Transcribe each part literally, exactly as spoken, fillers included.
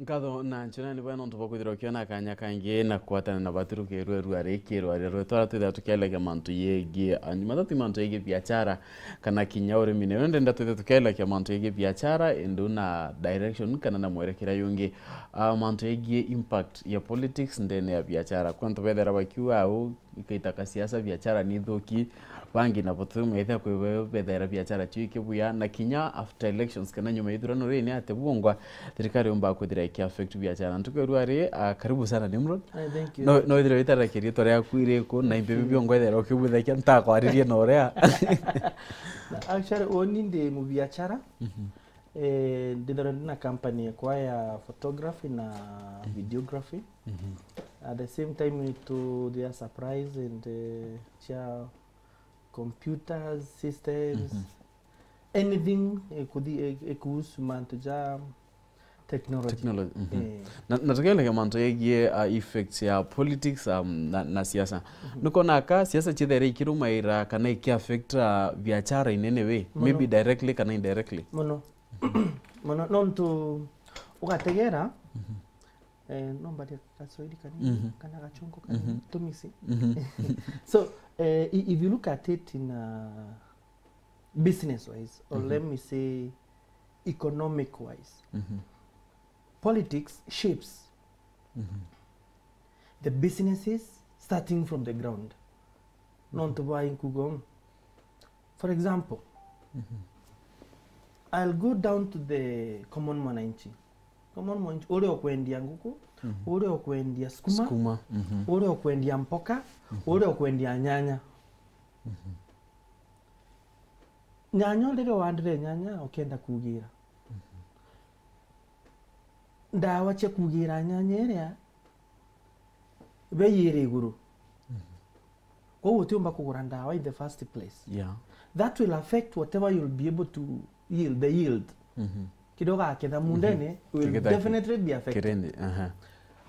Nkatho na nchena ni bwega nontu bwa kwithirwa ukiona kanya kangi na kwatana na baturuki rwerua riki rwaria rwetu, aria twithirwa tukielekia mantu yegii, ah, matatu mantu yegii biachara, kana kinya urimi. Nayo ndenda twithirwa tukielekia mantu yegii biachara, indu na direction kana na mwerekera yungi. Ah, mantu yegii impact ya politics ndene ya biachara. Kwa antu bethera bakiuga au, ikaita ka siasa, biachara ni ithuki, bangi nabo tumeithia kwi-, bethera biachara cio ikibuya, na kinya after elections kana nyuma ya ithurano riri ni ati bwongwa thirikari yumba kwithira iki affect biachara. Ntuku ya rua ri, ah, karibu sana Nimrod. Ah, thank you. No, no ithire witara kirietwa riaku iriku, na imbibi biongwa ithera ukibuthakia ntakwaririe na uria. Actually, uni ndi mubiachara. Mhm. Eh, ndithira ndina company yakwa ya photography na videography. Mhm. At the same time, to their surprise and, eh, cia computers, systems, anything ikuthi-, ik-, ikuhusu mantu ja technology. Technology, mhm. Eh. Na, na tukielekea mantu yegie, uh, effects ya politics, um, na, na siasa. Mhm. Nukona ka siasa chithere ikirumaira kana ikiaffect, uh, biachara in any way? Muno. Maybe directly kana indirectly? Muno. Muno, nontu ugategera, eh, no mbarie Gaswahili kanini, kana Gachungu kanini, tumisi. Mhm. So, eh, i-, if you look at it in, uh, business wise, or let me say economic wise, politics shapes the businesses starting from the ground. Nontu bwa inkugo. For example, I'll go down to the common mwananchi. Common mwananchi, uria ukwendia nguku, uria ukwendia sukuma, sukuma, mhm, uria ukwendia mpoka, uria ukwendia nyanya. Nyanya, riria wandire nyanya, ukienda kugira ndawa cia kugira nyanya iria, bei iri iguru. Kwou utiumba kugura ndawa in the first place. Yeah. That will affect whatever you'll be able to yield, the yield. Mhm. Kiria ugaketha mundene will definitely be affected. Kirendi, aha.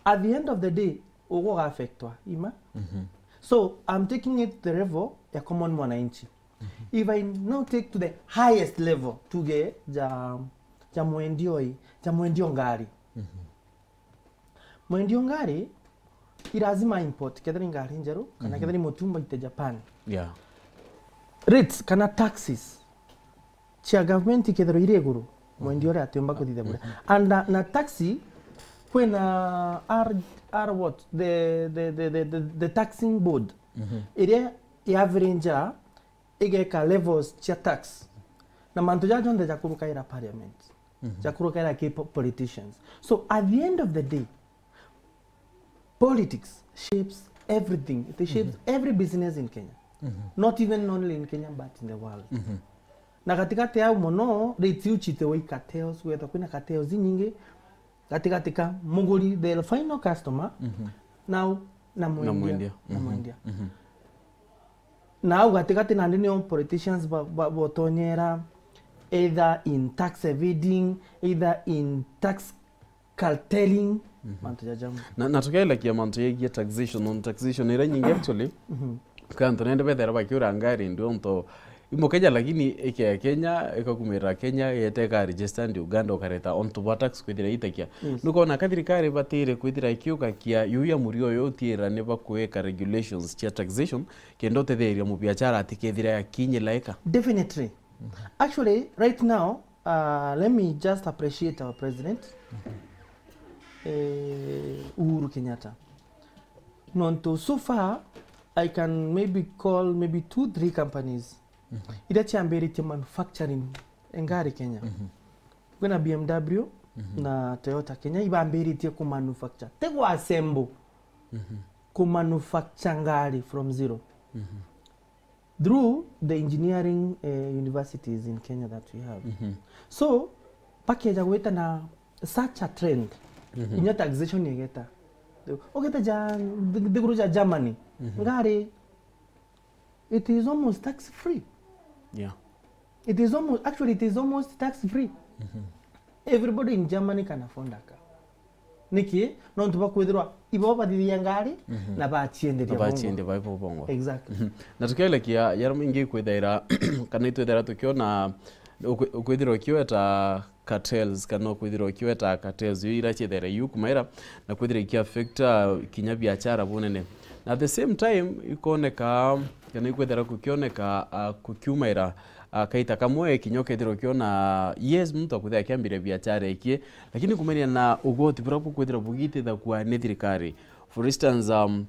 At the end of the day, ugwe uga affectwa, ima? Mhm. So, I'm taking it the level ya common mwananchi. Mhm. If I now take to the highest level, tuge ja, ja mwendioi, ja mwendio ngari. Mhm. Mwendio ngari, i lazima import, kethira i ngari njeru, kana kethira i mutumba ite Japan. Yeah. Rates kana taxes cia government ikethirwa iri iguru, mwendia uria atiumba kuthithia buria. And na, na taxi, kwina R, R what? The, the, the, the, the, the taxing board. Mhm. Iria i average igeka levels cia tax. Na mantu jaja jonthe jakurukaira parliament. Mhm. Jakurukaira ki po-, politicians. So at the end of the day, politics shapes everything. It shapes every business in Kenya. Mhm. Not even only in Kenya, but in the world. Mhm. Na katikati au mono, rates iu chitewa i cartels, gwetha kwina cartels inyingi, gatigati ka muguri, the final customer, mhm, nau na mwendia. Na mwendia. Na mhm, mwendia. Mhm. Na au gatigati nandi nio politicians ba, ba, botonyera, either in tax evading, either in tax carteling, mhm, mantu jaja. Na, na tukielekia mantu yegie taxation, on taxation iria nyingi actually, mhm, kwi antu nende bethera bakiura ngari ndio nto imukeja, lakini ikea Kenya, ikakumira Kenya, yete ika registered Uganda, ukareta ontu bwa tax kwithira itakia. Yes. Nukona ka thirikari batire kwithira ikiuga kia yu ya murio uyu utiira ni bakuweka regulations cia taxation, kenda utetheria mubiachara atikethira akinyila ika. Definitely. Mhm. Actually, right now, uh, let me just appreciate our president, eh, Uhuru Kenyatta. Nontu so far, I can maybe call maybe two, three companies, mhm, iria ciambiritie manufacturing ngari Kenya. Mhm. Kwina B M W, mhm, na Toyota Kenya ibambiritie ku manufacture. Ti gwa assemble. Mhm. Ku manufacture ngari from zero. Mhm. Through the engineering, eh, universities in Kenya that we have. Mhm. So, pakeja gwita na such a trend. Mhm. Inya taxation igeta. Ugeta ja, nthiguru ja Germany. Mhm. Ngari, it is almost tax free. Yeah. It is almost, actually, it is almost tax free. Mhm. Everybody in Germany can afford a car. Niki? Nontu bakwithirwa ibo bathithia ngari, mhm, na bacienderia. Na bongo. Baciendia bai bo bongo. Exactly. Mhm. Na tukielekia yara maingi kwithaira, kana itwithaira tukiona ukwi-, ukwithirwa ukiweta cartels, kana ukwithirwa ukiweta cartels, iu ira ciethaira iu kumaira, na kwithira ikiaffecta kinya biachara bunene. Na at the same time, ikoneka, kana ikwithira kukioneka, ah, kukiumaira, ah, kaita kamwe, kinya ukethirwa ukiona, yes, muntu akwithira akiambiria biachara ikie, lakini kumenya na ugoti bura bukwithira bugitithagua ni thirikari. For instance, um,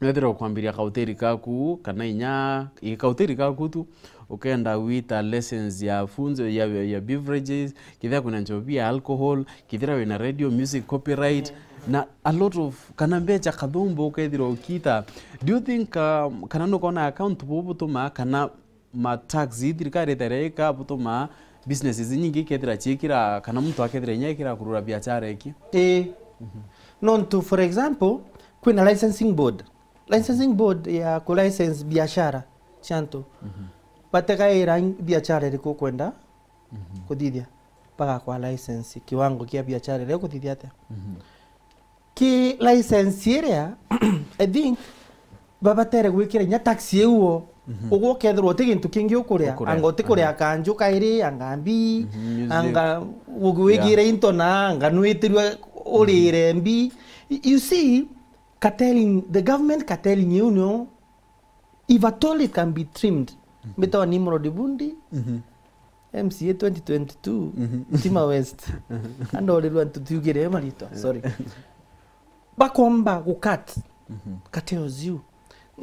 Wethira ukwambiria kauteri kaku, kana inya, i kauteri kaku tu, ukenda gwita license ya funzo, ya, ya beverages, kithira kwina nchobi ya alcohol, kithira wina radio, music, copyright, na a lot of, kana mbecha kathumbu ukethirwa ukita. Do you think, um, kana nukona account bubu butuma, kana ma tax ii thirikari ithere ika butuma businesses inyingi ikethira ciikira, kana muntu akethira inya ikira kurura biachara iki? Ii. Nontu, for example, kwina licensing board. Licensing board ya ku license biashara cia antu. Bategaira biashara iriku ukwenda kuthithia, bagakwa license, kiwango kia biashara iria ukuthithia atia. Ki license iria, I think, babatere gwikira inya tax iu o. Ugwe ukethirwa uti gintu kingi ukuria, ukuria, anga utikuria kanju kairi, anga mbi, music, anga ugwigire into na, anga nwitirwe urire mbi. Y-, you see, cartelling, the government cartelling iu nio, if at all it can be trimmed, mbitawa Nimrod Bundi, M C A twenty twenty-two, Tima West. Andorirwa ntu tiugire maritwa, sorry. Bakomba gu cut cartels iu.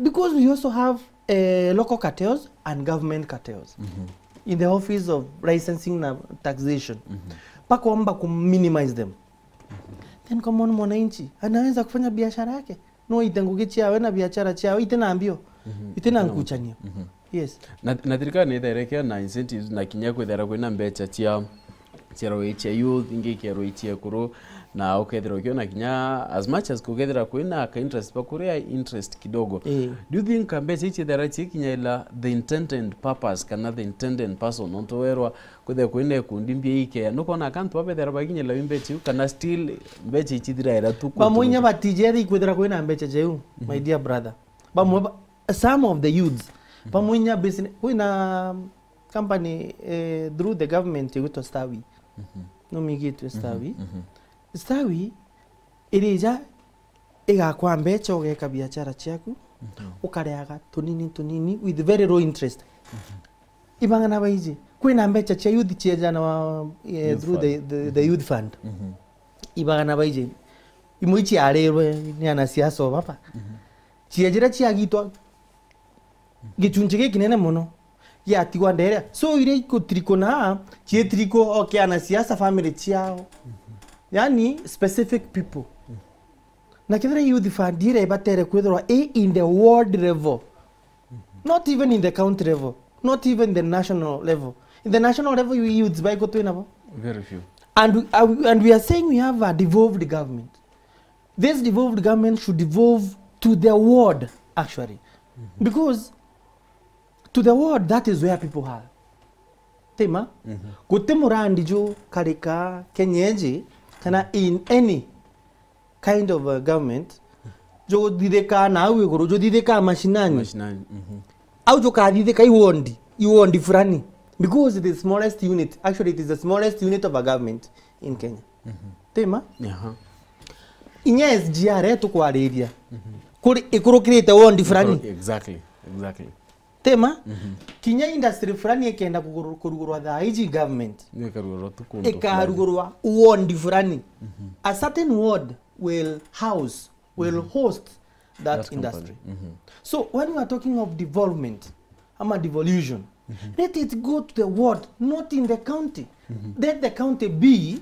Because we also have, eh, local cartels and government cartels in the office of licensing na taxation. Bakomba ku minimize them. Then common mwananchi anaweza kufanya biashara yake. No ite ngugi ciawe na biashara ciawe, ite na mbio, ite na nkuchanio. Yes. Na, na thirikari ni itherekea na incentives na kinya kwithera kwina mbecha cia, cia roi cia youth, ingi cia roi cia ekuru, na ukethira ukiona kinya as much as kukethira kwina ka interest, bakuria interest kidogo. Eh. Do you think mbecha ici ithera cikinya ila the intended purpose kana the intended person? Nontu werwa kwithira kwina ikundi mbia ikea, nukona akantu babethera bakinyila mbecha iu, kana still mbecha ici ithiraira tu? Bamwe inya batijeri kwithira kwina mbecha jeu, my dear brother. Bamwe ba-, some of the youths, bamwe inya business, kwina company, eh, through the government igwitwa Stawi. Numigitwe Stawi. Stawi irija igakwa mbecha, ugeka biashara ciaku, ukareaga tunini tunini with very low interest. Ibagana baiji, kwina mbecha cia youth ciejana wa, eh, through the, the, the youth fund. Ibagana baiji, imwe iciarirwe ni anasiasa o baba. Ciejire ciagitwa gichunchi gikinene mono, giatigwa nderea. So, iria ikutirikuna, cietiriko, okay, anasiasa family ciao. Yani, specific people. Na kethira youth fund iria ibatere kwithirwa i in the world level. Not even in the county level. Not even the national level. In the national level, you youths baiko twinabo. Very few. And we, uh, and we are saying we have a devolved government. This devolved government should devolve to the ward, actually. Because to the ward, that is where people are. Tima? Guti murandi ju karika Kenya iji, kana in any kind of a government, juthithika na au iguru, juthithika mashinani. Mashinani, mhm. Au jukathithika i wondi, i wondi fulani. Because it is smallest unit. Actually, it is the smallest unit of a government in Kenya. Tima? Aha. Inya S G R etukwariria. Kuri ikurukirite wondi fulani. Exactly, exactly. Tima? Kinya industry fulani ikenda kuguru-, kurugurwa thaa iji government. Ni ikarugurwa tu kundu fulani. Ikarugurwa ward fulani. A certain ward will house, will host that industry. That company. So when we are talking of development, ama devolution, let it go to the ward, not in the county. Let the county be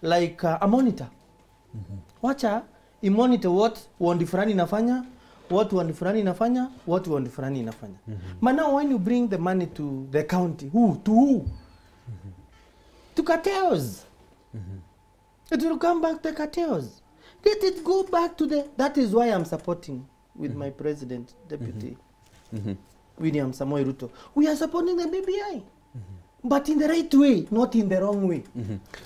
like, uh, a monitor. Wacha i monitor what ward fulani inafanya, what ward fulani inafanya, what ward fulani inafanya. But now when you bring the money to the county, who, to who? To cartels. It will come back to cartels. Let it go back to the, that is why I'm supporting with my president, Deputy William Samoei Ruto. We are supporting the B B I. But in the right way, not in the wrong way.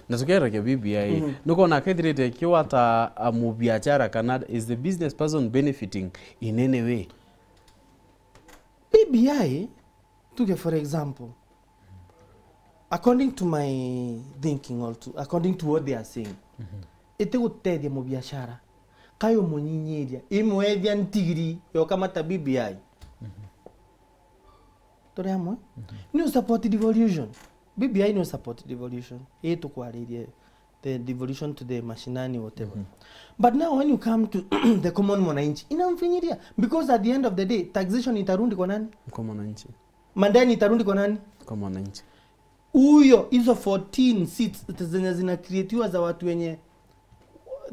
Na tukiaragia B B I, nukona akethirite kiwata a mubiachara kana is the business person benefiting in any way? B B I, tuge for example, According to my thinking or to, according to what they are saying, iti gutethia mubiashara, kayo munyinyithia, imwethia ntigiri yoka mata B B I. Turi amwe? Ni u support devolution. B B I ni u support devolution. Ii tukwaririe the devolution to the mashinani, whatever. But now when you come to the common mwananchi, inamfinyiria. Because at the end of the day, taxation itarundi kwa nani? Kwa mwananchi. Madeni itarundi kwa nani? Kwa mwananchi. Huyo, hizo fourteen seats zenye zina creatiwa za watu wenye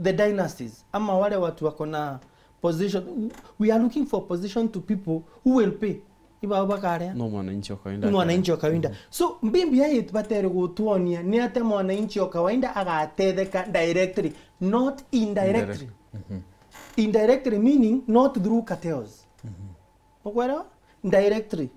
the dynasties, ama wale watu wako na position. We are looking for position to people who will pay. Iba bakarea. No mwananchi wa kawaida. Ni mwananchi wa kawaida. So, B B I batere gutuonia ni atia mwananchi wa kawaida agatetheka directly, not indirectly. Indirectly meaning not through cartels. Ukwelewa? Directly.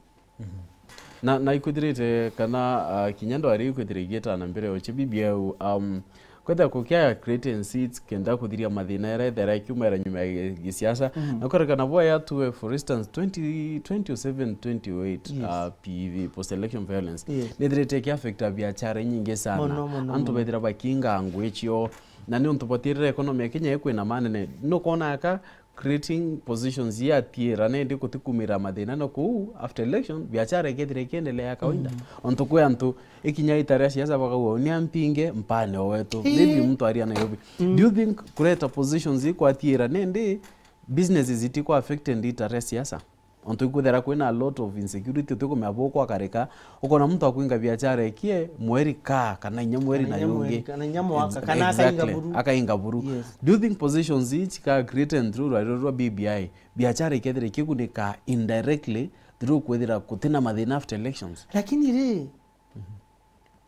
Na, na ikwithirite kana, ah, kinya ndwari ikwithira igietana mbere oche B B I, um, kwethira kukia creating seats kenda kuthiria mathina era ethera ikiumera nyuma ya gi-, gisiasa. Na kwerekana bwaya tuwe, for instance, twenty, twenty oh seven, twenty oh eight, ah, P V, post election violence. Nithirite ikiaffecta biachara inyingi sana. Mono, mono, mono. Antu bethira bakinga ngui cio. Na ni untu bwatirire economy ya Kenya ikwina manene. Nukona aka creating positions ya tiira nindi gutikumira mathina na kuu after election, biachara ikethira ikiendelea ya kawaida. Ontu kwi antu ikinya itaria siasa bakauga, "Ni ampinge mpane o wetu." Maybe muntu aria Nairobi. Do you think kureta positions ikwa tiira nindi businesses itikwa affected itaria siasa? Ontu ikwithira kwina a lot of insecurity, utikumenya bukwakarika, ukona muntu akwinga biachara ikie mweri ka, kana inya mweri na yungi. Kana inya mwaka, kana akainga buru. Akainga buru. Do you think positions ici ka created through rwairo rwa B B I, biachara ikethira ikigunika indirectly through kwithira kutina mathina after elections? Lakini ri,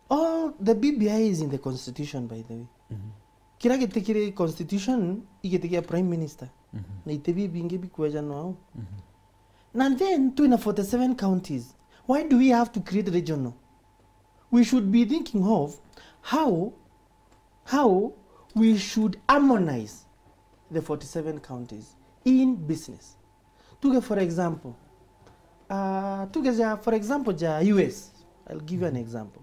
all the B B I is in the constitution, by the way. Kira giti kiri constitution, igiti kia prime minister. Na iti bibingi bikwejanwa au. Na then, twina forty-seven counties. Why do we have to create regional? We should be thinking of how, how we should harmonize the forty-seven counties in business. Tuge for example, uh, tuge ja, for example, ja U S. I'll give you an example.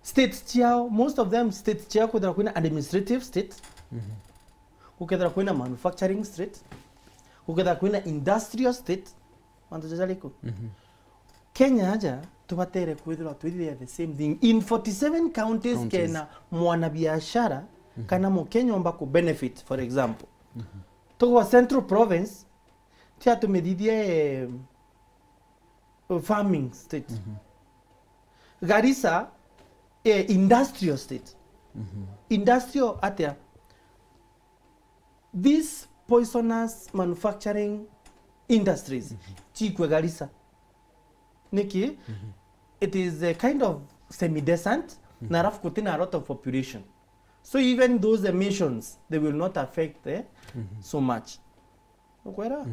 States ciao, most of them states ciao, kwithira kwina administrative state, gukethira kwina manufacturing state, gukethira kwina industrial state, mantu jaja riku. Kenya aja, tubatere kwithirwa twithire the same thing in forty-seven counties, kena mwana biashara kana Mukenya omba ku benefit, for example. Tugwa Central Province, tia tumithithie, eh, farming state. Garissa, eh, industrial state. Industrial atia? These poisonous manufacturing industries, chikwe Garissa. Niki? It is a kind of semi-desert, na alafu kutina a lot of population. So even those emissions, they will not affect, eh, so much. Ukwera?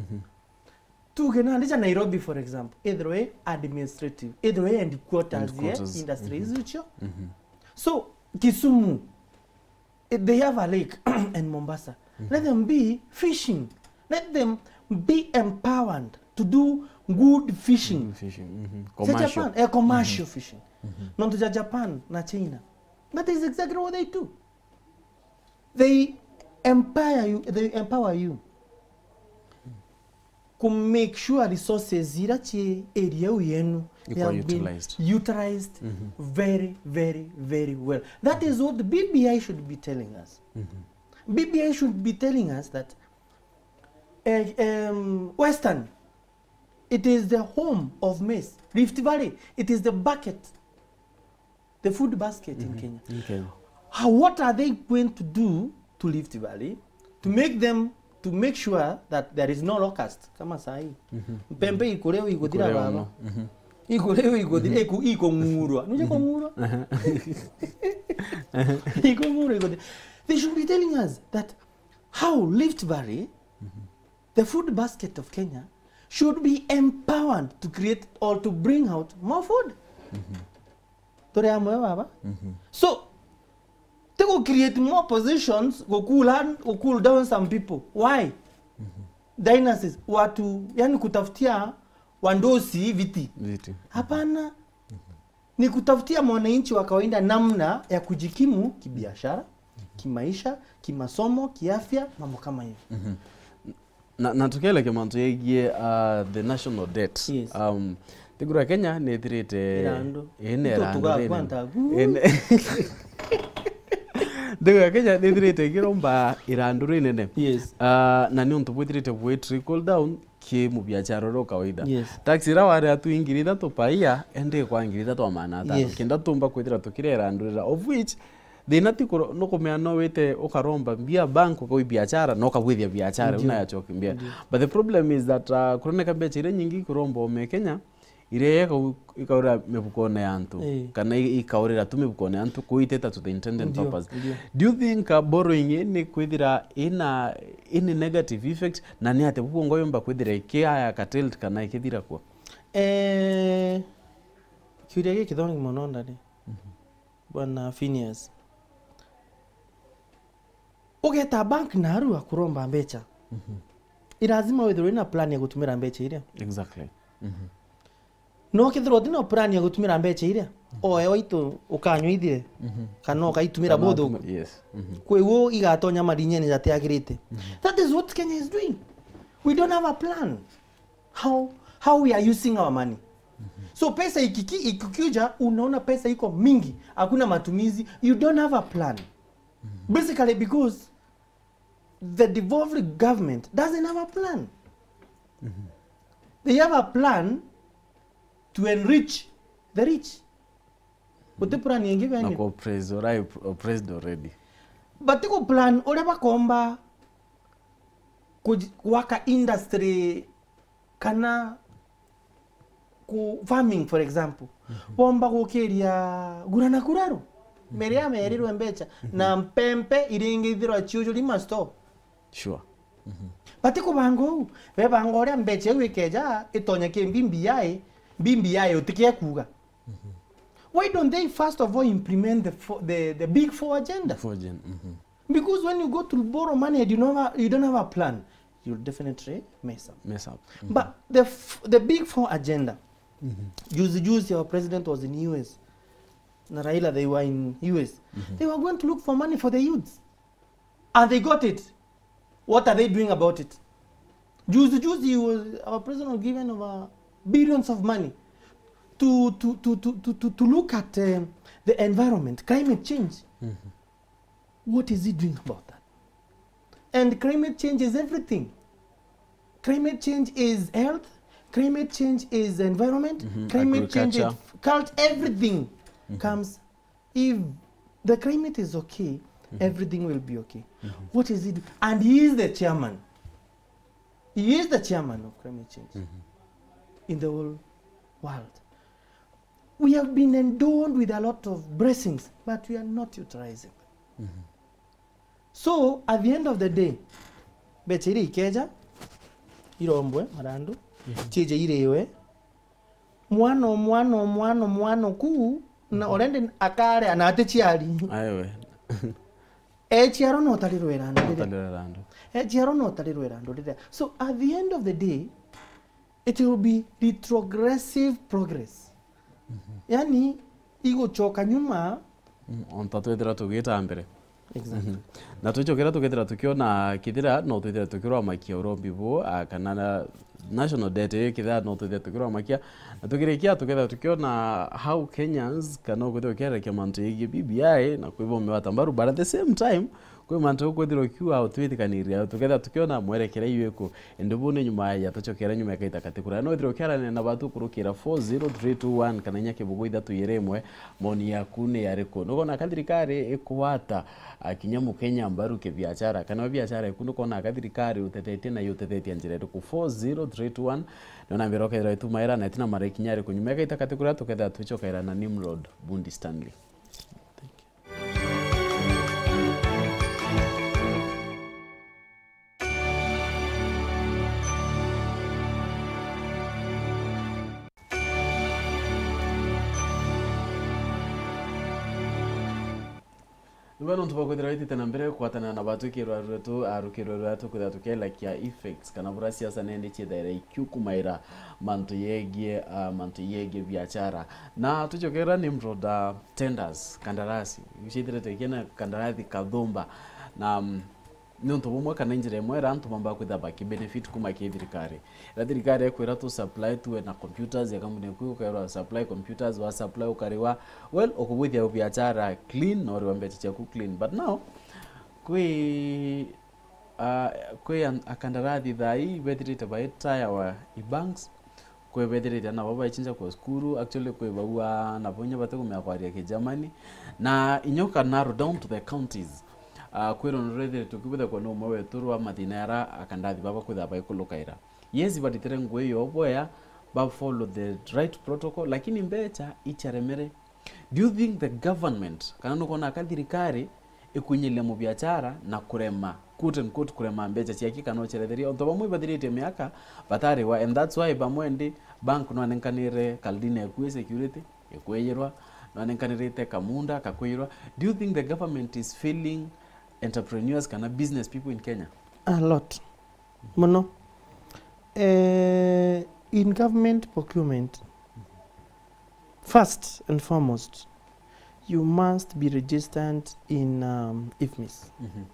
Tuge nandi ja Nairobi, for example, ithirwe administrative, ithirwe headquarters, eh, industries icio. So, Kisumu, eh, they have a lake and Mombasa. Let them be fishing. Let them be empowered to do good fishing. Fishing. Commercial. Japan, eh, commercial fishing. Nontu ja Japan na China. That is exactly what they do. They empower you, they empower you ku make sure resources ira ci area iu yenu, they have been utilized very, very, very well. That is what the B B I should be telling us. B B I should be telling us that, eh, um, Western, it is the home of maize. Rift Valley, it is the bucket, the food basket in Kenya. How, what are they going to do to Rift Valley to make them, to make sure that there is no locust? Kama sahi. Mpembe ikureo iguthira baba. Ikureo iguthira, iku-, ikung'urwa. Nuje kung'urwa? Ikung'urwa iguthira. They should be telling us that how Rift Valley, the food basket of Kenya, should be empowered to create or to bring out more food. Turi amwe baba? So, ti ku create more positions, ku cool hand, ku cool down some people. Why? Dynasties, watu, yani kutafutia wandosi viti. Viti. Hapana. Ni kutafutia mwananchi wa kawaida namna ya kujikimu kibiashara, kimaisha, kimasomo, kiafya, mambo kama hiyo. Mhm. Na, na tukielekea mantu yegie, uh, the national debt. Yes. Um, nthiguru ya Kenya nithirite Irandu. Ii, ni Nito irandu tuga rinene. Kwanta gu. Ii, ni-, nthiguru ya Kenya nithirite ikiromba irandu rinene. Yes. Uh, na ni untu bwithirite bwi trickle down ki mubiachara uria kawaida. Yes. Tax iria wari atu ngiri ithatu per year, indi kwa ngiri ithatu na magana atano. Yes. Kenda tumba kwithira tukiria irandu rira, of which thina ti kuro-, nukumea no wite ukaromba mbia bank, ukagwi biachara, na ukagwithia biachara, Ndio. Una yachoki mbia. Ndio. But the problem is that, uh, kuroneka mbecha iria nyingi ikuromba ume Kenya, iria ikau-, ikaurira mifukone ya antu, Eh. kana i-, ikaurira tu mifukone ya antu, kuiteta to the intended Ndio, purpose. Ndio. Do you think, uh, borrowing ii ni kwithira ina, ini negative effect, na ni atia bubu ngo yumba kwithira ikiaya curtailed kana ikithira kuo? Eh, kiuria giki kithongi mono ndari. Mhm. Bwana Phineas. Ugeta bank narua kuromba mbecha. Mhm. I lazima withirwe na plan ya gutumira mbecha iria. Exactly. Mhm. No kethirwa utina plan ya gutumira mbecha iria, Mhm. oe waitu ukanywa ithire, Mhm. kana ukaitumira Kana buthuku. Yes. Mhm. Kwi uu igatonya marinyene jatiagirite. Mhm. That is what Kenya is doing. We don't have a plan. How, how we are using our money. Mhm. So pesa ikiki-, ikikuja, unaona pesa iko mingi, hakuna matumizi, you don't have a plan. Mhm. Basically because the devolved government doesn't have a plan. Mhm. They have a plan to enrich the rich. Guti plan ingi Na bene. Ku oppress, urai oppressed already. But ku plan uria bakomba kuj-, gwaka industry kana ku farming, for example, Mhm. bomba gukiria gura na kuraru, Mhm. meria merirwe mbecha, Mhm. na mpempe iringi ithirwa ciujuri ma store. Sure. Mhm. Bati kubanga uu, bebanga uria mbecha iu ikeja, itonya ki B B I, B B I utikie kuuga. Mhm. Why don't they first of all implement the fo-, the, the big four agenda? Four agenda, mhm. Because when you go to borrow money and you don't have, you don't have a plan, you'll definitely mess up. Mess up. Mhm. But the f-, the big four agenda, Mhm. juzi juzi our president was in U S. Na Raila, they were in U S. Mhm. They were going to look for money for the youths. And they got it. What are they doing about it? Juzi juzi, he was, our president was given over billions of money to, to, to, to, to, to, to look at, um, the environment, climate change. Mhm. What is he doing about that? And climate change is everything. Climate change is health. Climate change is environment. Mhm, climate change is agriculture. Cult-, everything Mhm. comes. If the climate is okay, Mhm. everything will be okay. Mhm. What is it? And he is the chairman. He is the chairman of climate change Mhm. in the whole world. We have been endowed with a lot of blessings, but we are not utilizing them. Mhm. So, at the end of the day, mbecha iria ikeja, irombwe marandu, Mhm. ciije iriwe, mwana o mwana o mwana o mwana o kuu, na Mhm. already akaria na aticiari. Aewe. Eciarwa no tarirwe irandu riria. Tarirwe irandu. Eciarwa no tarirwe irandu riria. So, at the end of the day, it will be retrogressive progress. Mhm. Yani, igucoka nyuma. Mm, onta twethira tugita mbere. Exactly. Mhm. Na twicokera tukethira tukiona kethira no twethira tukirwamakia urombi bu, ah, kana na national debt ii kethira no twethira tukirwamakia. Na tukirikia tukethira tukiona how Kenyans kana ukwithira ukierekia mantu yegie B B I na kwibombe wata mbaru, but at the same time, kwi mantu ukwithirwa ukiuga utwithikaniria, tukethira tukiona mwerekera iu iku. Indi bu ni nyuma ya tucokera nyuma ya kaita kati kuria. No withirwa ukiarania na batu kurukira four zero three two one kana inya kibugu ithatu igiri imwe, maoni yaku ni yariku? Nugona ka thirikari ikugwata, ah, kinya Mukenya mbaru kibiachara, kana we biachara yaku nukona ka thirikari utethetie na yutethetie njira iriku? Four zero three two one, nona mbere ukethirwa itumaira na itina mara ikinya yariku. Nyuma ya kaita kati kuria tukethira twicokaira na Nimrod Bundi Stanley. Thank you. Tuga nontu bwa kwithirwa itite na mbere kwatana na batwikirwa rwetu, a, rukirwe rwetu kwithirwa tukielakia effects kana bura siasa nende ciithaira ikiukumaira mantu yegie, a, mantu yegie biachara. Na tucokera Nimrod, a, tenders, kandarasi. Icithirite ikiena kandarasi kathumba. Na, mm, ni untu bumwe kana njira imwe iria antu bamba kwithirwa bakibenefit kuma ki thirikari. Ira thirikari ikwira tu supply tuwe na computers ya kampuni yaku, ukairwa supply computers, wa supply ukariwa, well, ukubwithia biachara clean, na uriwa mbecha ciaku clean. But now, kwi, ah, kwi an-, akandarathi thaa ii bethirite baitayawa i banks, kwi bethirite ana babo baichinja kwa cukuru, actually kwi bau ana babo inya batikumenya kwaria Kigermany, na inya uka narrow down to the counties. Ah, kwirwa nurethirite ukibwithagwa ni umwe wetu rwa mathina ara akandarathi baba kwithirwa baikulukaira. Yes, baritire ngugi yo bwea, ba follow the right protocol, lakini mbecha icharemere. Do you think the government, kana nukwona ka thirikari ikwinyiria mubiachara na kurema, quote and quote, kurema mbecha ciaki kana ucheretheria? Onto bamwe ibathiritie miaka batariwa, and that's why bamwe ndi bank nwanenkanire kaldina ekui security, ikwiyirwa, nwanenkanirite kamunda kakwiyirwa. Do you think the government is failing entrepreneurs kana business people in Kenya? A lot. Mono. Eh, in government procurement, first and foremost, you must be registered in, um, IFMIS. Mhm.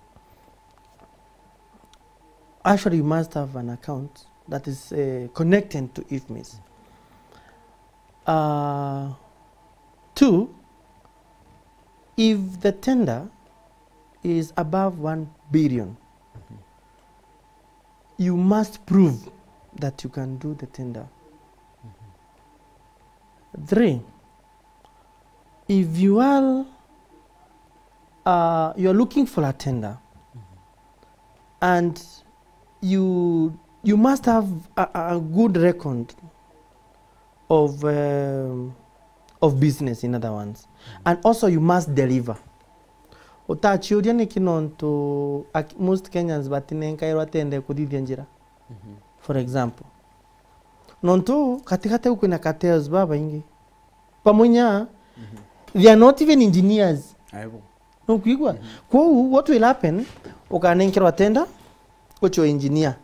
Actually, you must have an account that is, eh, connected to IFMIS. Uh, two, if the tender is above one billion, you must prove that you can do the tender. Three, if you are, uh, you are looking for a tender and you, you must have a, a, a good record of, um, of business, in other words. And also you must deliver. Utachiuria niki nontu ak-, most Kenyans batinenkairwa tender kuthithia njira. Mhm. For example, nontu katigati au kwina cartels babaingi. Bamwe inya, mhm, they are not even engineers. Aibo. Nukwigua? Mhm. Kwou, what will happen? Ukanenkerwa tender, ucho engineer,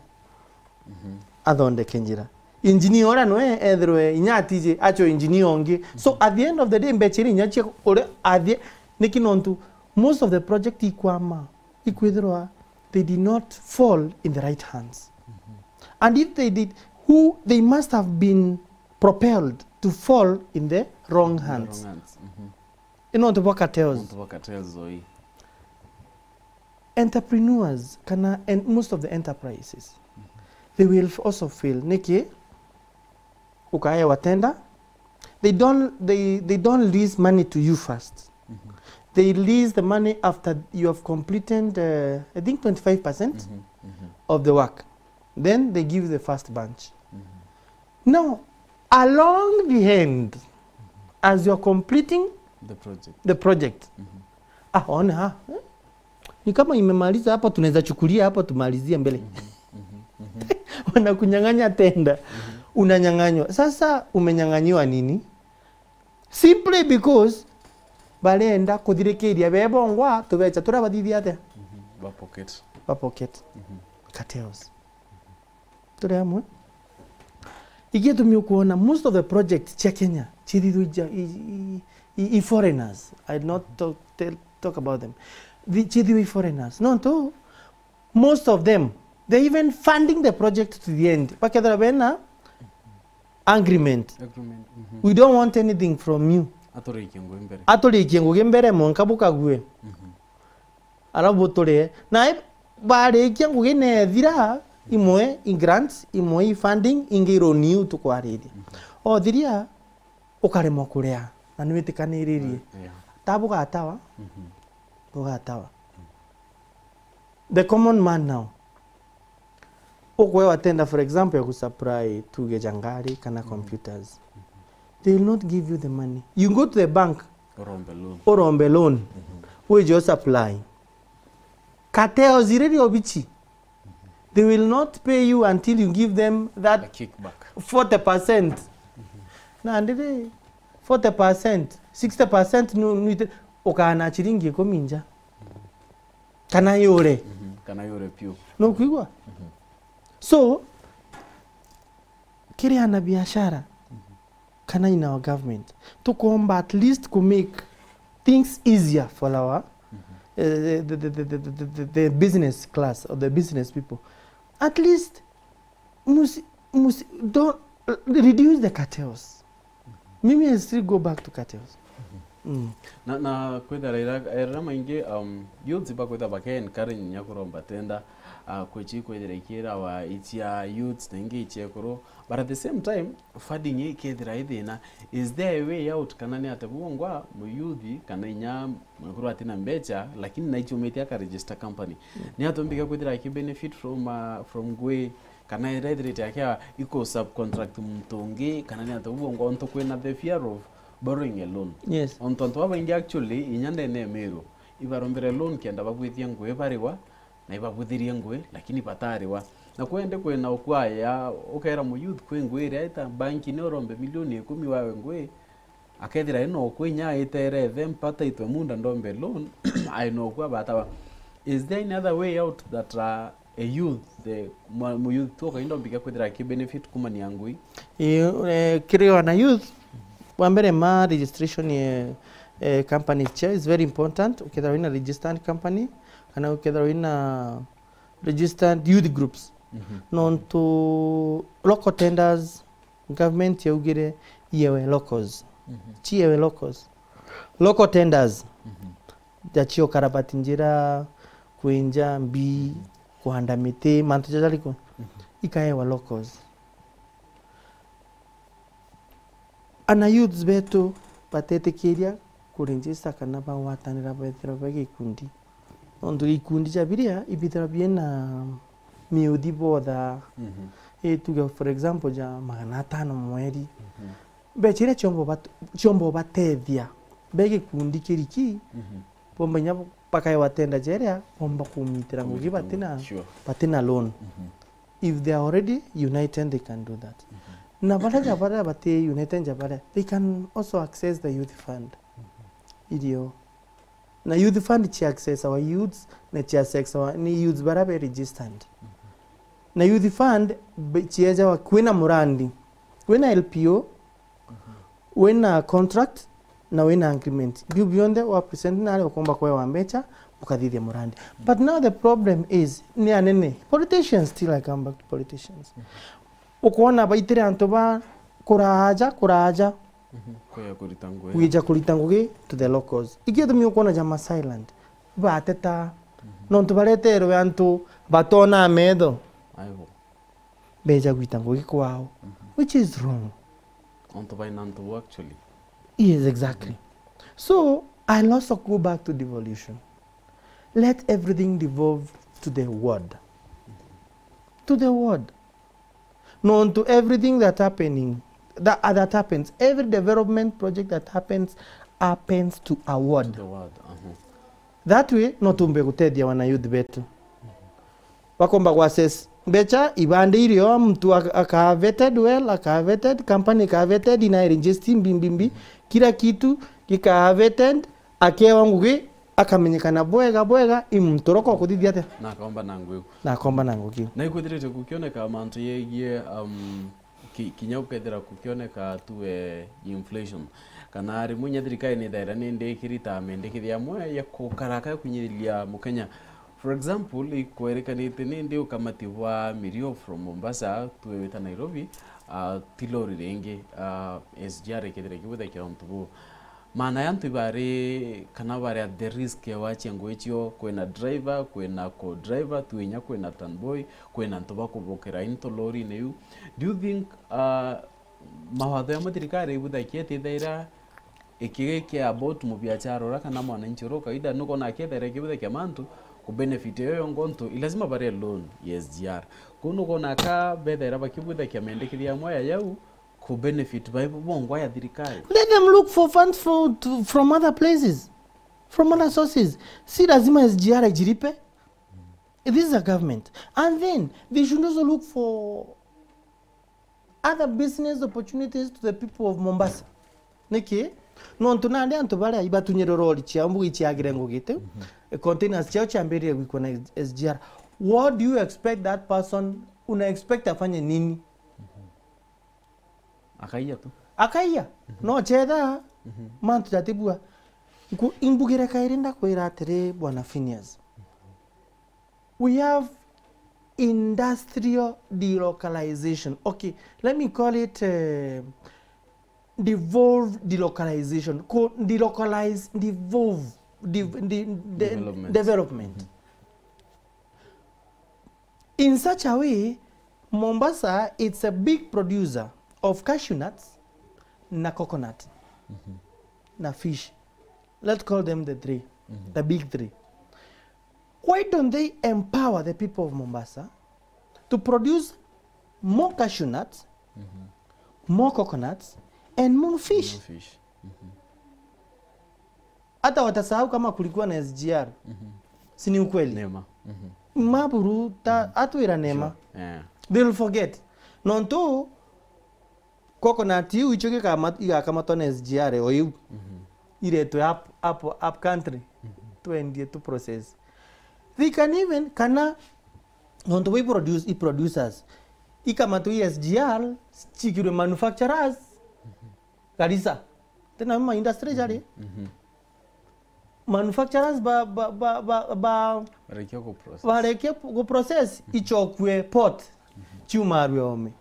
mhm, athondeke njira. Engineer uria nwe ethirwe inya atiji acho engineer ungi. So, mhm, at the end of the day, mbecha iria inya cia uria athie, niki nontu most of the project ikwama, ikwithirwa they did not fall in the right hands. Mhm. And if they did, who, they must have been propelled to fall in the wrong hands. In the wrong hands. Mhm. Ni nontu bwa cartels. Nontu bwa cartels, oi. Entrepreneurs, kana en-, most of the enterprises, mhm, they will f-, also fail. Niki? Ukaewa tender. They don't, they, they don't release money to you first. Mhm. They release the money after you have completed, uh, I think, twenty-five percent, mhm, mhm, of the work. Then they give the first bunch. Mhm. Now, along the end, as you're completing the project, the project, mhm, ah, one, ah, eh? Ni kama imemaliza hapo, tunaweza chukulia hapo, tumalizie mbele. Mhm, mhm, mhm. Wanakunyang'anya tender. Mhm. Unanyang'anywa. Sasa umenyang'anyiwa nini? Simply because barenda kuthirikiria bebongwa tubecha turia bathithia atia? Mhm. Ba pocket. Ba pocket. Mhm. Cartels. Turi amwe. Igitumi ukwona most of the projects cia Kenya cithithua i, i, i, i foreigners. I not talk, tell, talk about them. Cithithua i foreigners. Nontu most of them, they even funding the project to the end. Bakethira bena agreement. Agreement, mhm. We don't want anything from you. Aturikie ngugi mbere. Aturikie ngugi mbere, mwanka bukague. Mhm. Arabu buturie. Na i-, barikia ngugi nethira, imwe i grants, imwe i funding, ingi i loan iu tukwariria. Mhm. Othiria, ukaremwa kuria, na niwitikaniririe. Yeah. Ta bugatawa, mhm, bugatawa. The common man now, ukwewa tender, for example, ya kusupply tuge ja ngari kana, mhm, computers. Mhm. They will not give you the money. You go to the bank, urombe loan. Urombe loan. Mhm. Wije usupply. Cartels iria obichi, they will not pay you until you give them that, a kickback, forty percent. Mhm. Na ndiri forty percent, sixty percent nu-, nuite-, ukana chiringi ikumi nja. Kana yure. Mhm. Kana yure piu. No kwigua? Mhm. So, kiri ana biashara, mhm, kana in our government, tukomba at least ku make things easier for our, mhm, eh, the, the, the business class or the business people. At least, musi, musi, don't, reduce the cartels. Mimi, I still go back to cartels. Mm. Na, na kwithira ira, ira maingi, um, youths bakwithira bake encourage nya kuromba tender, uh, kwichi kwithira ikirawa ichia youths na ingi ichia ekuru, but at the same time, funding ikethira i thina. Is there a way out, kana ni atia bungwa muyuthi kana inya mwekuru atina mbecha lakini naichumite aka register company? Mm. Ni atia umbika kwithira aki benefit from, uh, from ngui, kana irethirite akia iko subcontract muntu ungi, kana ni atia bungwa ontu kwina the fear of borrowing a loan? Yes. Ontu antu babaingi actually inya ndene ya Meru ibarombere loan kenda babwithia ngui bariwa, na ibabuthirie ngui, lakini batariwa. Na kwende kwina ukwaya, ukera mu youth kwi ngui iria ita banki ni urombe milioni ikumi wawe ngui, akethira ina ukwi nya itere the mpata itwe munda ndombe loan, ai no kwa batawa. Is there any other way out that, uh, a youth, the mu, mu youth tu kainda mbika kwithira ki benefit kumania ngui? Ii, eh, kiri wana youth, wa mbere ma registration ye, eh, company chair is very important. Ukethira wina registered company, kana ukethira wina registered youth groups. Mhm. Nontu local tenders, government yaugire iyewe locals. Mhm. Chiyewe locals. Local tenders. Mhm. Jachio karabati njira, kwinja mbi, mhm, kuhanda miti, mantu jaja jariku. Mhm. Ikaewa locals. Ana youths betu batetikiria ku register kana bagwatanira bethirwa be gikundi. Nontu gikundi ja biria ibithirwa biena miuthi botha, mhm, i tuge for example ja magana atano mweri. Mhm. Mbecha iria ciomba ubat-, ciomba ubatethia be gikundi kiriki, mhm, bomba inya bakaewa tenda jeria bomba kumitira ngugi. Kumitira ngugi, batina, sure, batina loan. Mhm. If they are already united, they can do that. Mhm. Na baria ja baria bati united ja baria, they can also access the youth fund. Mhm. Irio. Na youth fund chi access our youths, na chi access our, ni youths baria be registered. Mhm. Na youth fund, be-, chiejawa kwina murandi, wina L P O, mhm, wina contract, na wina agreement. Biu bionthe wa present nari ukomba kwewa mbecha, ukathithia murandi. But now the problem is, ni anene. Politicians, still I come back to politicians. Mhm. Ukwona baitire antu ba kuraja, kuraja. Mhm. Kwija kurita ngugi. Kwija kurita ngugi to the locals. Ikio tumi ukwona ja Maasai land. Bateta. Mhm. Nontu bareterwe antu batona metho. Aibo. Beja gwita ngugi kwao, mhm, which is wrong. Ontu baina ntu actually. Yes, exactly. Mhm. So, I'll also go back to devolution. Let everything devolve to the ward. To the ward. Nontu everything that happening, that, uh, that happens, every development project that happens, happens to a ward. To the ward, uh-huh. That way, no tumbe gutethia wana youth betu. Bakomba ku access mbecha, ibande irio, mtu ak-, akaa vetted well, akaa vetted, company ikaa vetted, ina register mbi, mbi, mbi, kila kitu gikaa vetted, akewa ngugi, akamenyekana bwega, bwega, i muntu uroko kuthithia atia? Na akomba na ngugi. Na akomba na ngugi. Na ikwithirite gukioneka mantu yegie, um, ki-, kinya ukethira kukioneka tuwe inflation. Kana rimwe inya thirikari ni thaira ni ndikirita mendekithia amwe ya kukaraka ya kunyiriria Mukenya. For example, ikwerekanite ni ndi ukamati bwa mirio from Mombasa, tuwe wita Nairobi, ah, ti lori ringi, ah, S G R ikethira ikibwithakia untu buu. Maana ya antu ibari kana bari at the risk ya wachia ngugi cio, kwina driver, kwina co-driver, twinya kwina turnboy, kwina antu bakubokera into lorine iu. Do you think, uh, mawatho ya thirikari ibuthakia ati thaira ikigikea about mubiachara ura kana mwananchi ura kawaida, nukona akethaira ikibuthakia mantu ku benefit yo yongo ntu ilazima bare loan ya S G R. Kuu nukona aka bethaira bakibuthakia mendekithia amwe ya yau, ku benefit baibo bongwa ya thirikari. Let them look for funds for, to, from other places, from other sources. Si lazima S G R ijiripe. This is a government. And then they should also look for other business opportunities to the people of Mombasa. Niki? Nontu nandi antu baria ibatunyire rori cia mbugi ciagire ngugi tiu. Mhm. containers ciao ciambiririe gwikwa na S G R. What do you expect that person, una expect afanye nini? Akaiya tu. Akaiya. No chetha mantu jatibua. Nku-, imbugire kairi ndakwira atiri, Bwana Phineas. We have industrial delocalization. Okay, let me call it, uh, devolved delocalization. Ku delocalize, devolve, de-, de-, de-, Development. Development. In such a way, Mombasa, it's a big producer of cashew nuts na coconut na fish. Let's call them the three, the big three. Why don't they empower the people of Mombasa to produce more cashew nuts, more coconuts, and more fish? More fish. Hata watasahau kama kulikuwa na S G R. Si ni ukweli? Nema. Maburu ta atwira nema. Sure. Yeah. They'll forget. Nontu coconut iu icio gikama-, igakamatwa na S G R o iu. Iretwe up, up, up country. Twendie tu process. They can even, kana nontu bo i produce-, i producers, ikamatwe i S G R, cikirwe manufacturers. Garissa. Tena ma industry jari. Manufacturers ba, ba, ba, ba, ba, Barekia ku process. Barekia ku process, ichokwe port. Chiumarwe ome.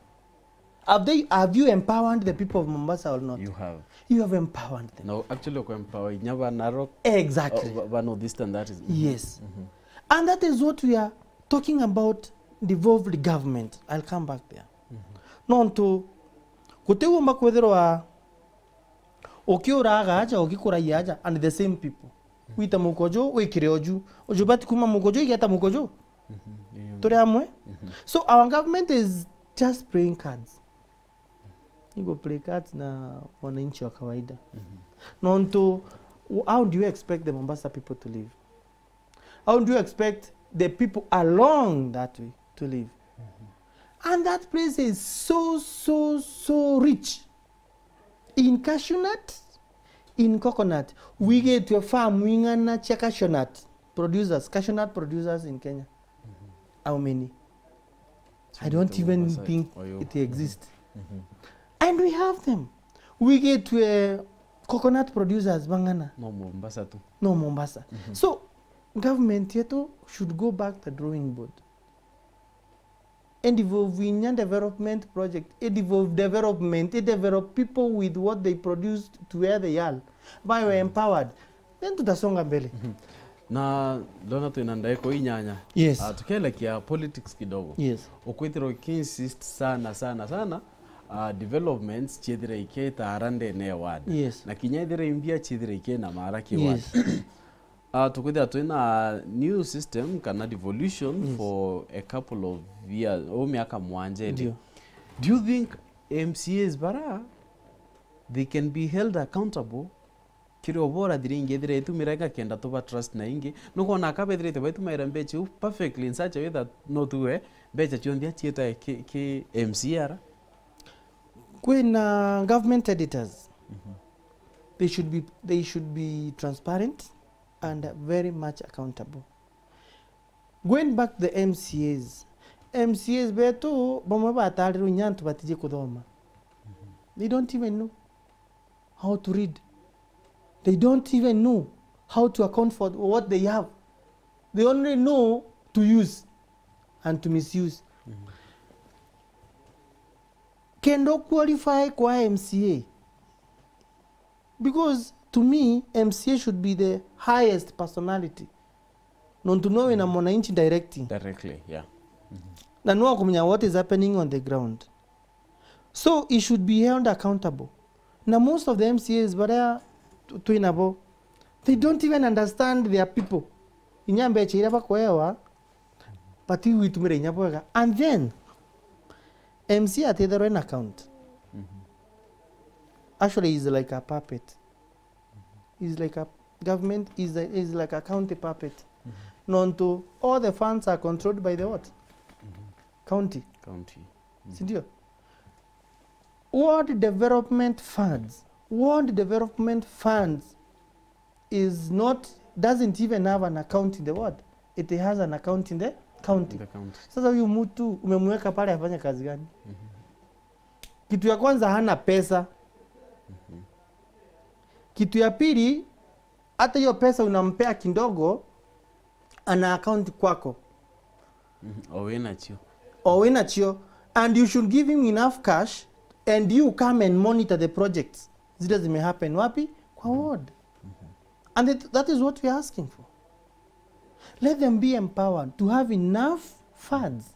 Have they, have you empowered the people of Mombasa or not? You have. You have empowered them. No, actually, ku empower inya ba Narok. Exactly. Oh, ba, ba North Eastern, that is. Yes. And that is what we are talking about, devolved government. I'll come back there. Nontu, gutiumba kwithirwa ukiuraga aja, ugikuragia aja, and the same people. Wita muko ju, wikire uju. Uju bati kuma muko ju, igeta muko ju. Turi amwe. So our government is just playing cards. Igo play cards na wananchi wa kawaida. Nontu, how do you expect the Mombasa people to live? How do you expect the people along that way to live? And that place is so, so, so rich in cashew nut, in coconut. Wigitwe farm ing'ana cia cashew nut producers, cashew nut producers in Kenya. How many? I don't even think it exists. And we have them. Wigitwe coconut producers bang'ana. No Mombasa tu. No Mombasa. So, government yetu should go back the drawing board. And involve inya development project, involve development, develop people with what they produced to where they are. By empowered. Then tutasonga mbele. Na ndona twina ndaika inyanya. Yes. Ah, tukielekia politics kidogo. Yes. Ukwithirwa ukiinsist sana, sana, sana, ah, developments ciethire ikitaara ndene ya ward. Yes. Na kinya ethire imbia ciethire ikina mara ki ward. Yes. Ah, tukwithira twina new system kana devolution for a couple of years, o miaka mwanja indi. Ndio. Do you think M C As bara, they can be held accountable kiri obora thiri ingi ethira itumira igakenda tuba trust na ingi? Nukwona aka bethirite baitumaira mbecha iu perfectly in such a way that no tuwe mbecha cionthe acieta ki, ki M C A ara? Kwina government auditors. They should be, they should be transparent and very much accountable. Going back to the M C As, M C As betu bamwe batarirwe inya antu batiji kuthoma. They don't even know how to read. They don't even know how to account for what they have. They only know to use and to misuse. Kenda qualify kwa M C A, because to me, M C A should be the highest personality. Nontu no wina mwananchi directing. Directly, yeah. Na no akumenya what is happening on the ground. So he should be held accountable. Na most of the M C As baria tu-, twinabo, they don't even understand their people. Inya mbecha iria bakwewa, but igwitumira inya bwega. And then, M C A atitherwe na account. Actually, he's like a puppet. He's like a government, is a, is like a county puppet. Nontu, all the funds are controlled by the what? County. County. Sindio? Ward development funds. Ward development funds is not doesn't even have an account in the what? It has an account in the county. In the county. Sasa huyu mtu umemweka pale afanye kazi gani? Kitu ya kwanza, hana pesa. Kitu ya pili, hata hiyo pesa unampea kidogo, ana account kwako. Mhm. O wina cio. O wina cio. And you should give him enough cash and you come and monitor the projects. Zile zimehappen wapi? Kwa ward. And that, that is what we are asking for. Let them be empowered to have enough funds.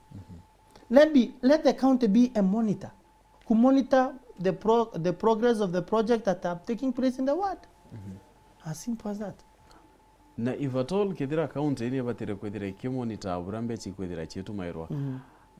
Let be, let the county be a monitor. Ku monitor the pro-, the progress of the project that are taking place in the ward. As simple as that. Na if at all kethira county ni ibatire kwithira ikimonitor bura mbeca ikwithira ciitumairwa,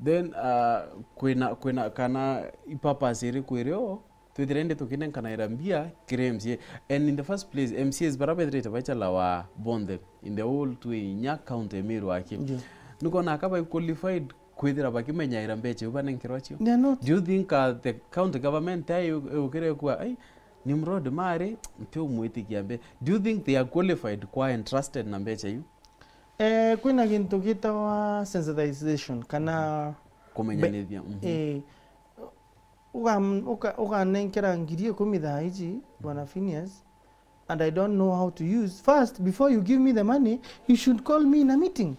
then, uh, kwina, kwina kana ipurpose iriku irio twithira indi tukinenkanaira mbia kiri M C A? And in the first place, M C As bara bethirite baichalawa bonthe in the whole twi inya county Meru aki. Ndio. Nukwona aka bai qualified kwithira bakimenyaira mbeca iu banenkerwa cio? They are not. Do you think, uh, the county government ai yukire kwa, ai, Nimrod mari, ntiumwitikia mbe. Do you think they are qualified kwa entrusted na mbeca iu? Eh, kwina gintu gitawa sensitization kana kumenyanithia. Be-, mhm. Eh, uga-, uka-, uganenkera ngiri ikumi thaa iji, Bwana Phineas, and I don't know how to use. First, before you give me the money, you should call me in a meeting.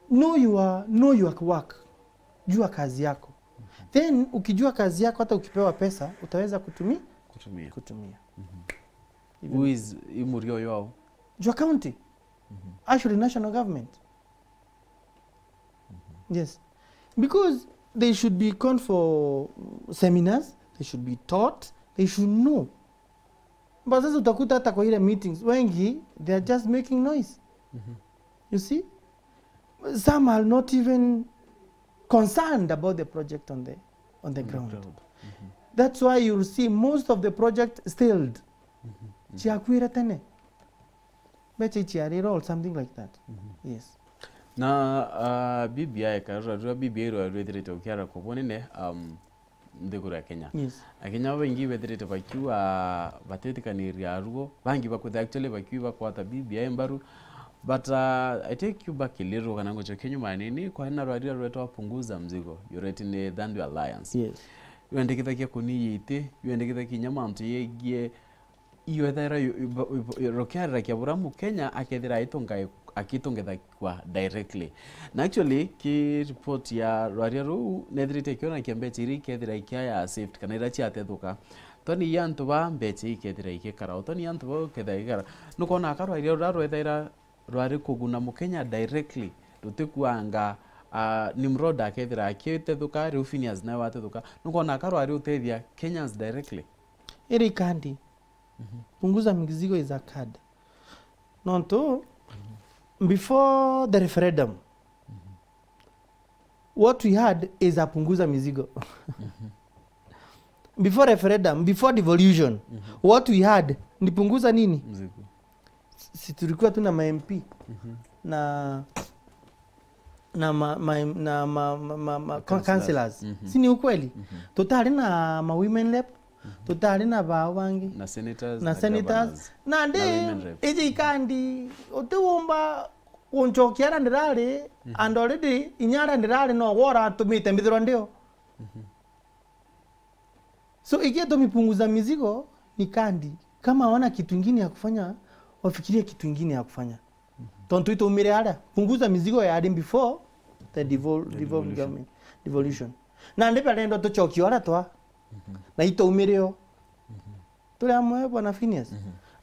Know your, know your work. Jua kazi yako. Then, ukijua kazi yako, hata ukipewa pesa, utaweza kutumi-, Kutumia. Kutumia. Even who is imuri oyo ao? Jua County. Actually, national government. Yes. Because they should be gone for seminars, they should be taught, they should know. But sasa utakuta hata kwa ile meetings, wengi, they are just making noise. You see? Some are not even concerned about the project on the, on the ground. That's why you'll see most of the project stalled. Ciakwire tene. Mbeca iciarire or something like that. Yes. Na, uh, B B I, karura rwa B B I rwa rwithirite ukiara kwa bunene, um, nthiguru ya Kenya. Yes. Akenya babaingi bethirite bakiuga batitikaniria aruo, bangi bakwitha actually bakiuga bakwata B B I mbaru. But, uh, I take you back a little, kana ngucokia nyuma nini, kwari na rwaria rwetwa Punguza Mzigo, yuretwe ni Thandu Alliance. Yes. Rwendekithagia kuniia iti, rwendekithagia kinya mantu yegie iyo ethaira yu-, yu-, yu-, rukiarira kia bura Mukenya akethira aitunga-, akitungithagua directly. Na actually, ki report ya rwaria ruu, nethirite ikiona kia mbeca iria ikethira ikiaya saved, kana iria ciatethuka. Toni ya antu ba mbeca ikethira igikara, o toni ya antu ba ikethira igikara. Nukona aka rwaria ruria rwethaira rwari kuguna Mukenya directly, rutikuanga, ah, Nimrod akethira akitethuka, riu Phineas nawe watethuka. Nukona aka rwari utethia Kenyans directly. Iri kandi. Punguza Mizigo is a card. Nontu, before the referendum, what we had is a Punguza Mizigo. Before referendum, before devolution, what we had ni Punguza nini? Mzigo. Si tulikuwa tu na ma M P na na ma, ma, na ma, ma, ma, ma councillors. Si ni ukweli? Tutari na ma women rep, tutari na bao bangi. Na senators, na senators. Governors. Na ndi, na women rep. Iji ikandi, utiumba uncokia ara ndirari, and already inya ara ndirari no gwe uratumite mbithirwa ndio. So, ikitumi Punguza Mizigo ni kandi. Kama hawana kitu ingine ya kufanya, wafikirie kitu ingine ya kufanya. Tontu itaumire aria, Punguza Mizigo yari before the devol-, devolved government, devolution. Na ndi barenda tucokie aria twa, na itaumire o. Turi amwe, Bwana Phineas.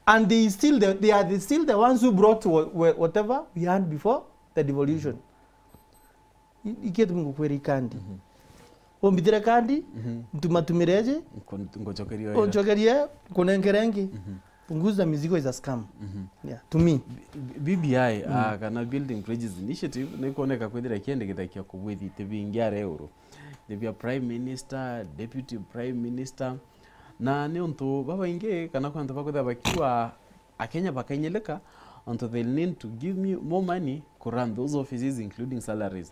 And they still the, they are the, still the ones who brought wha-, wha-, whatever we had before the devolution. I-, ikitumi ngukwira ikandi. Umbithire kandi, ntumatumire iji, nku-, ngucokerie o ira. Uncokerie, nkunenkere ingi. Punguza Mizigo is a scam. Yeah, to me. B-, B B I, ah, kana Building Bridges Initiative, ni kuoneka kwithira ikiendekithagia kubwithia iti bingi aria iguru. Ni bia Prime Minister, Deputy Prime Minister, na ni untu babaingi, kana kwi antu bakwithira bakiuga, Akenya bakainyilika, until they need to give me more money to run those offices, including salaries.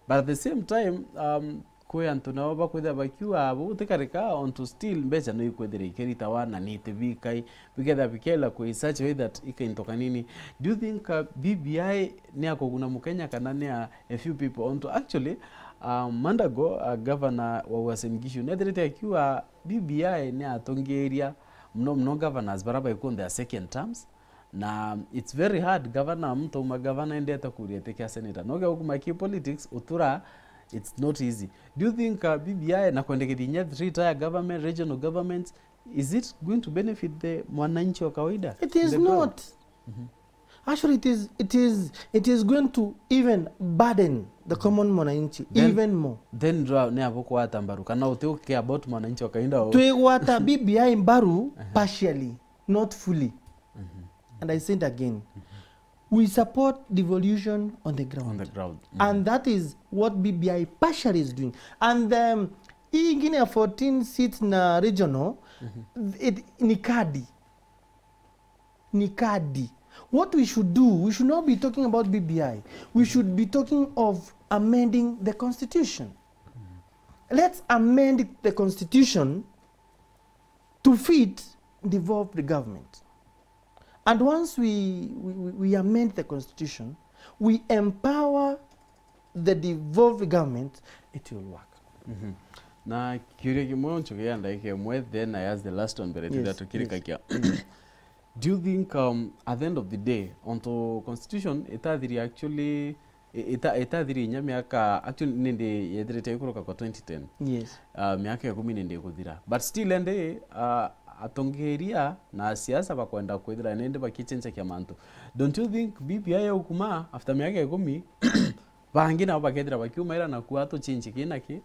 But at the same time, um, kwi antu nao bakwithira bakiuga, "Buu ti karika," ontu still mbeca no ikwithira ikiritawa na ni itibikai, bikethira bikela kwi such a way that ikaintoka nini. Do you think, uh, B B I ni ya kuguna Mukenya kana ni ya a few people? Ontu actually, uh, Mandago, uh, governor wa Uasin Gishu, nethirite akiuga B B I ni atongeria muno muno governors bara baikuo their second terms, na it's very hard governor, muntu auma governor endete kuria iti kia senator. No geukumaki politics utura, it's not easy. Do you think, uh, B B I na kwendekeria inya three tier government, regional governments, is it going to benefit the mwananchi wa kawaida? It is not. Actually, it is, it is, it is going to even burden the common mwananchi even more. Then ndura ni abo kwata mbaru kana uti uke about mwananchi wa kawaida o. Twigwata B B I mbaru partially, not fully. And I said again, we support devolution on the ground. On the ground. And that is what B B I partially is doing. And, um, hii ingine ya fourteen seats na regional, it, ni kadi. Ni kadi. What we should do, we should not be talking about B B I. We should be talking of amending the constitution. Let's amend the constitution to fit devolved government. And once we, we, we, we amend the constitution, we empower the devolved government, it will work. Na kiuria kimwe nchukia ndagika imwe, then I ask the last one mbere turia tukirikakia. Do you think, um, at the end of the day, onto constitution itathiri actually, i-, ita-, itathiri inya miaka, actually nindi yethirite ikuruka kwa twenty ten. Yes. Uh, miaka ikumi nindi ikuthira. But still endi, uh, atongeria na siasa bakwenda kwithira nindi bakichenjakia mantu. Don't you think B B I yaukuma after miaka ikumi, bangi nabo bakethira bakiumaira na kuuga tuchenji ki na ki?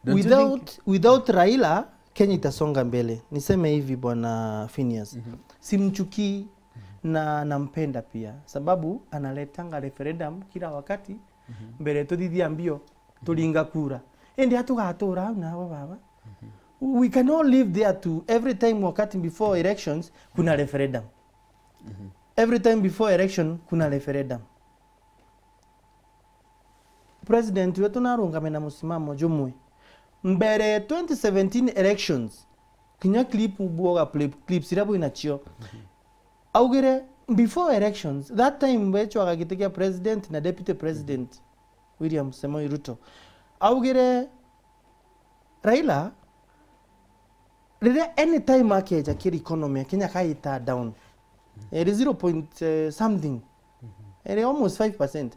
Don't you think without, without Raila, Kenya itasonga mbele. Niseme hivi, Bwana Phineas. Simchukii na nampenda pia, sababu analetanga referendum kila wakati mbere tuthithia mbio, turinga kura. Indi atugatura au nabo baba. We cannot live there to every time wakati before elections kuna referendum. Every time before election kuna referendum. President wetu narungame na musimamo jumwe. Mbere twenty seventeen elections, kinya clip bwoga play, clips iria bwinacio. Augire before elections, that time bechwaga giti kia president na deputy president, William Samoei Ruto. Augire Raila, riria any time akeja kiri economy ya Kenya kaita down, iri zero point, eh, something, iri almost five percent.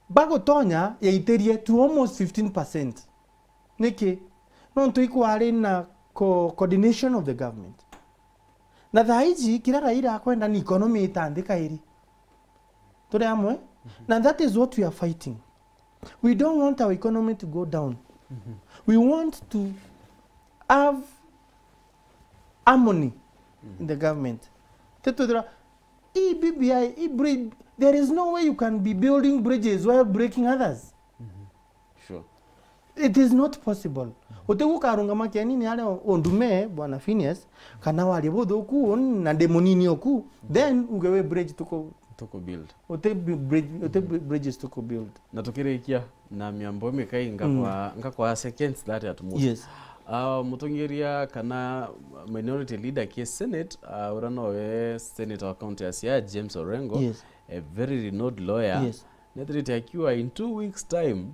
Bagutonya yaitirie to almost fifteen percent. Niki? Nontu ikwari na co-, coordination of the government. Na thaa iji, kiria Raila akwenda ni economy itanthi kairi. Turi amwe? Na that is what we are fighting. We don't want our economy to go down. We want to have harmony in the government. Tetwithira, hii B B I, hii bri-, there is no way you can be building bridges while breaking others. Sure. It is not possible. Uti gukarungama kianini aria undume, Bwana Phineas, kana warie buthuku, na ndi munini oku, then uge wi bridge tuku-, tuku build. Uti bi-, bridge, uti bi-, bridges tuku build. Na tukirikia na miambo mikai, ngakwa, ngakwa seconds that at most. Yes. Ah, mutongeria kana minority leader ki Senate, ah, uria nowe senator wa county ya Siaya, James Orengo, yes, a very renowned lawyer, yes, nethirite akiuga in two weeks time,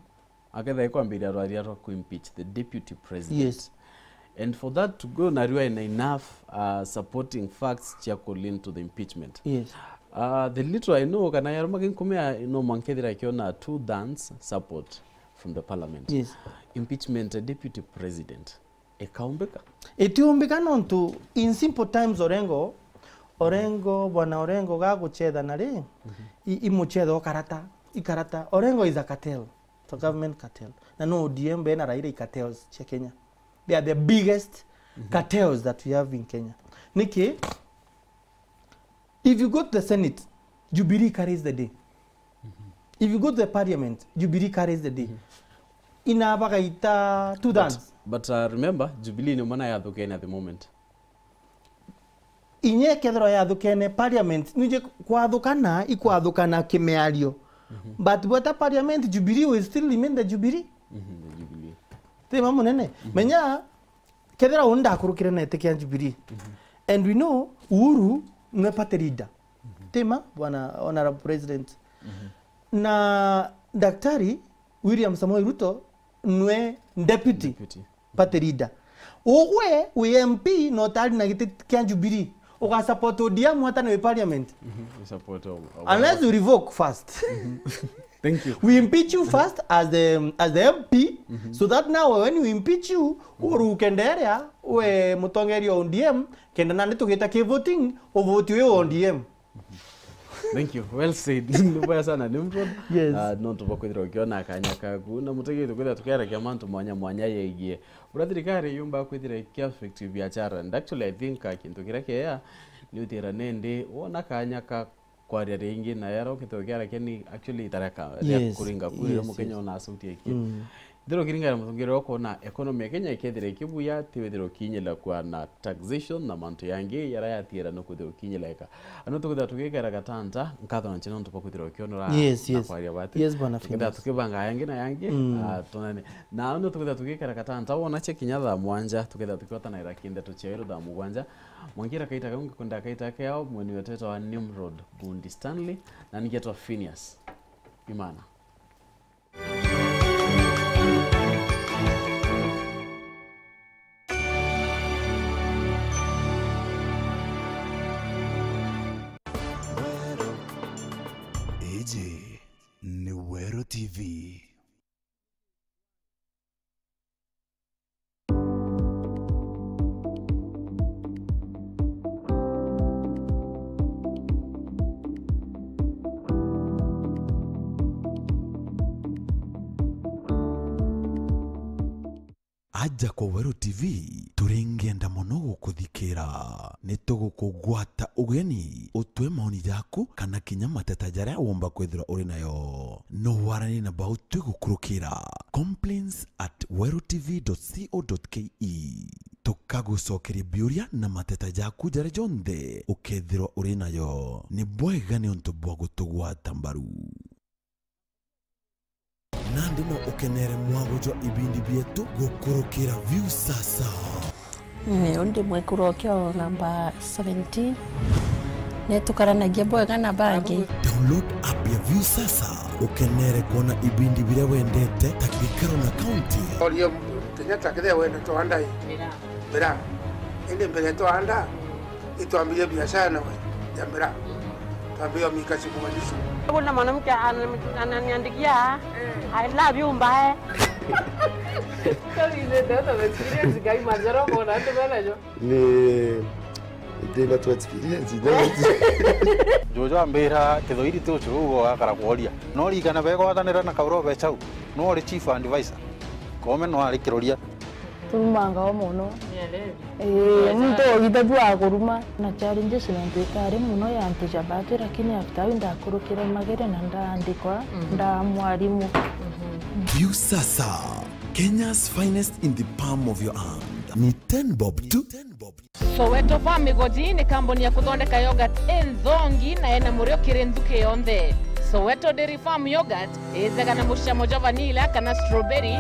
akethira ikwambiria rwaria rwa kuimpeach the deputy president. Yes. And for that to go, narua ina enough, uh, supporting facts cia ku lean to the impeachment. Yes. Uh, the little I know, kana yaruma ginkumia, no mwanka ethira akiona two thirds support from the parliament. Yes. Impeachment ya deputy president ikaumbika? Itiumbika nontu in simple terms, Orengo, Orengo, Bwana Orengo gaguchetha na ri, i-, imuchetha o karata, ikarata. Orengo is a cartel. It's a government cartel. Na no O D M be na Raila i cartels cia Kenya. They are the biggest cartels that we have in Kenya. Niki? If you go to the Senate, Jubilee carries the day. If you go to the parliament, Jubilee carries the day. Ina bagaita two thirds. But, but, uh, remember, Jubilee ni mwana yathukene at the moment. Inye kethirwa yathukene parliament, nije kwathukana, ikwathukana kimiario. But bweta parliament, Jubilee will still remain the Jubilee. The Jubilee. Ti ma munene. Menya, kethira uu ndakurukire na iti kia Jubilee. And we know Uhuru nwe party leader. Ti ma, bwana Honorable President. Na Daktari William Samoei Ruto nwe deputy. Deputy. Party leader. Ugwe wi M P na utari na giti kia Jubilee, uga support O D M hata ni wi parliament? Mhm, we support O-, O-, unless you revoke first. Thank you. We impeach you first as the, as the M P, so that now when we impeach you, uruke nderia we mutongeria O D M, kenda nandi tugita ki voting, uvoti wi O D M. Thank you. Well said. Ni bwega sana, Nimrod. Yes. Ah, nontu bwa kwithirwa ukiona kanya kaku. Na mutegeri tukwithirwa tukiaragia mantu mwanya mwanya yegie uria thirikari yumba kwithira ikiaffect biashara. And actually, I think, ah, kintu kiria kiega ni utira nindi wona kanya ka kwaria ringi na yara ukithirwa ukiaragia ni actually itareka ria, yes, kuringa kuri, yes, mukenya yes, ona asauti iki. Mm. Ndiro kiringana muthungire ukwona economy ya Kenya ikethira ikibuya, ti withirwa ukinyila kwa na taxation na mantu yangi yara yatiira no kwithirwa ukinyileka. Ano tukwithirwa tugikera gatanta, nkatho na nchene nontu bwa kwithirwa ukionora, yes, na yes, kwaria bati. Yes, bwana Tukethira Phineas. Tukibanga yangi na yangi, mm, ah, tunene. Na ano tukwithirwa tugikera gatanta, wona che kinya thaa mwanja, tukethira tukiotanaira kindeto cia iru thaa mugwanja. Mwangira kaita kau, ngikunda kaita keo, mweni wetu etwa Nimrod Bundi Stanley, na ningetwa Phineas Imana. Iji ni Weru T V. Aja kwa Weru T V, turingenda mono gukuthikira. Ni tugukugwata ugeni, utwe maoni jaku kana kinya mateta jaria womba kwithirwa uri nayo. No waranie na bau twigukurukira, complaints at weru T V dot co dot K E. Tukagucokeria biuria na mateta jaku jaria jonthe ukethirwa uri nayo. Ni bwega niuntu bwa gutugwata mbaru. Nandi no ukenere mwago jwa ibindi bietu gukurukira Viusasa. Niu ndi mwekuru okio namba seventeen. Nitukaranagia bwega na bangi. Download app ya Viusasa ukenere kwona ibindi biria wendete ta gikaro na kaunti. Oria Kenyatta kethira wenda twanda i. Mbira. Indi mbere twanda, itwambirie biashara nawe ya mbira. Twambirie mika siku manisho. Kuna mwanamke ana-, ananiandikia, "I love you, mbae." Sorry, the data experience, guy, majoro kona, ati bana jo. Ni, ndina tu experience, no? Jojo ambira, "Kithoiri ti ucuru ugo gakara kworia." No rigana begwatanira na Kauro Bechau, no ori chief advisor. Kome no ari kiroria. Turumanga o mono. Ii, muntu ogite tu akuruma. Na challenges nontu itari mono ya antu ja batu, lakini after au ndakurukire magere na ndaandikwa, nda mwarimu. Viusasa, Kenya's finest in the palm of your hand. Ni ten bob tu. Soweto Farm Igoji ni kambuni ya kuthondeka yogurt inthongi na ena murio kiri nthuki yonthe. Soweto Dairy Farm Yogurt ithega na mucamo jwa vanilla kana strawberry.